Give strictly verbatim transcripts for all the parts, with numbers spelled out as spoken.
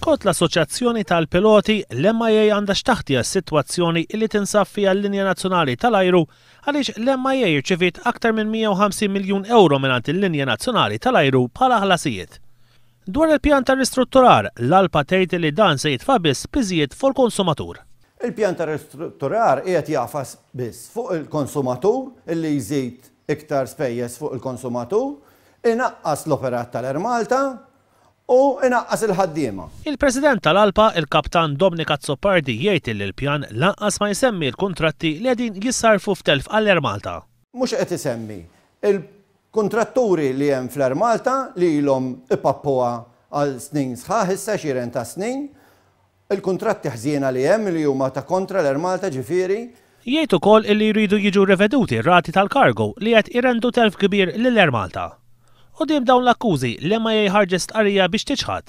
Skont l-Assoċjazzjoni tal-Piloti, l-M I A għandha x'taħti għas-sitwazzjoni li tinsab fiha l-linja nazzjonali tal-ajru, għaliex l-M I A rċeviet aktar minn mija u ħamsin miljun euro mingħand il-linja nazzjonali tal-ajru bħala ħlasijiet. Dwar il-pjan ta' ristrutturar, l-ALPA tgħid li dan se jitfa' biss piżijiet fuq il-konsumatur. Il-pjan ta' ristrutturar qiegħed jagħfas biss fuq il-konsumatur, illi jżid iktar spejjeż fuq il-konsumatur, inaqqas l-operat tal-Air Malta u inaqqas il-ħaddiema. Il-President tal-ALPA, il-Kaptan Dominic Azzopardi, jgħid li l-pjan lanqas ma jsemmi l-kontratti li qegħdin jissarfu f'telf għall-Air Malta. Mhux qed isemmi il-kontratturi li hemm fl-Air Malta li ilhom ipappuha għal snin sħaħ issa, għexieren ta' snin, il-kontratti ħżiena li hemm li huma ta' kontra l-Air Malta ġifieri. Jgħid ukoll illi jridu jiġu riveduti rati tal-kargo li qed irendu telf kbir lill-Air Malta. Quddiem dawn l-akkużi, l-M I A ħarġet stqarrija biex tiċħad.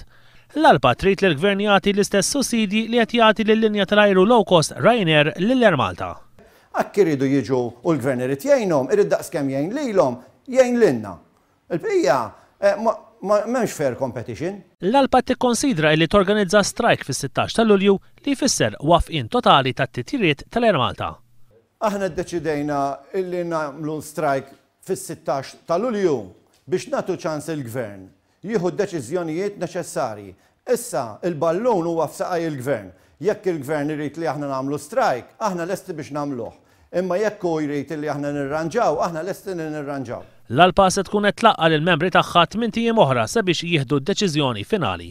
L-ALPA trid li l-gvern jagħti l-istess sussidji li qed jagħti lill-linja tal-ajru low cost Ryanair lill-Air Malta. Jekk iridu jiġu u l-gvern irid jgħinhom, irid daqskemm jgħin lilhom, jgħin lilna. Il-bqija eh, ma m'hemmx fair competition. L-ALPA tikkonsidra li torganizza strike fis-sittax ta' Lulju, li jfisser waqfien totali tat-titjiriet tal-Air Malta. Aħna ddeċidejna illi nagħmlu strike fis-sittax ta' Lulju biex nagħtu ċans il-gvern jieħu d-deċiżjonijiet neċessarji. Issa il-ballun huwa f'saqaj il-gvern. Jekk il-gvern irid li aħna nagħmlu strike, aħna lesti biex nagħmluh. Imma jekk hu jrid li aħna nirranġaw, aħna lesti li nirranġaw. L-ALPA se tkun qed tlaqqa' lill-membri tagħha tmint ijiem oħra sabiex jieħdu d-deċiżjoni finali.